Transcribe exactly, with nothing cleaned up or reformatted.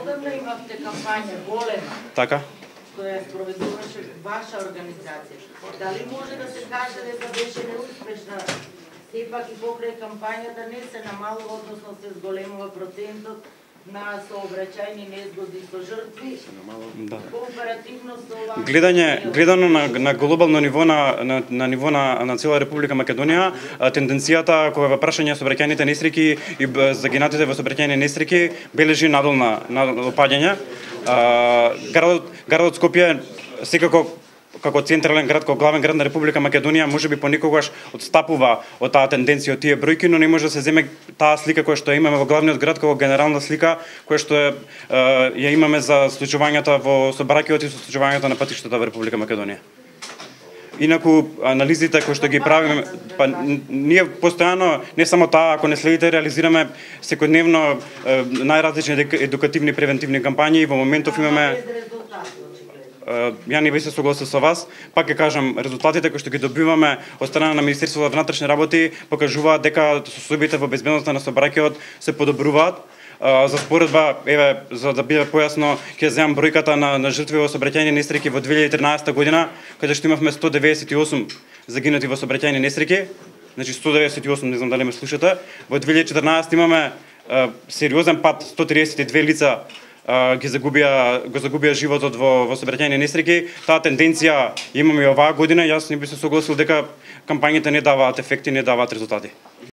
Неодамна имавте кампања голема. Така. Која спроведуваше ваша организација. Дали може да се каже дека беше неуспешна? Сепак и покрај кампањата не се намалува, односно се зголемува процентот на сообраќајни незгоди со жртви. Да. Кооперативно со ова Гледање, гледано на, на глобално ниво на, на, на ниво на, на цела Република Македонија, тенденцијата кога во прашање сообраќајните несреќи и загинатите во сообраќајни несреќи бележи надолна на опаѓање. Градот, градот Скопје секако како централен град, како главен град на Република Македонија, можеби понекогаш отстапува од таа тенденција, од тие бројки, но не може да се земе таа слика која што имаме во главниот град како генерална слика која што е, ја имаме за случувањата во сообраќајот и со случувањата на патиштата во Република Македонија. Инаку анализите кои што ги правиме, па ние постојано не само таа, ако не следите, реализираме секојдневно најразлични едукативни превентивни кампањи и во моментов имаме ја не би се согласил со вас, пак ќе кажам, резултатите кои што ги добиваме од страна на Министерството за внатрешни работи покажуваат дека состојбите во безбедноста на сообраќајот се подобруваат. За споредба, еве, за да биде појасно, ќе земам бројката на, на жртви во сообраќајни несреќи во две илјади и тринаесетта година, каде што имавме сто деветдесет и осум загинати во сообраќајни несреќи, значи сто деветдесет и осум, не знам дали ме слушате. Во две илјади и четрнаесетта имаме е, сериозен пат, сто триесет и две лица ги загубија го загубија животот во во сообраќајни несреќи. Таа тенденција имаме и оваа година. Јас не би се согласил дека кампањите не даваат ефекти, не даваат резултати.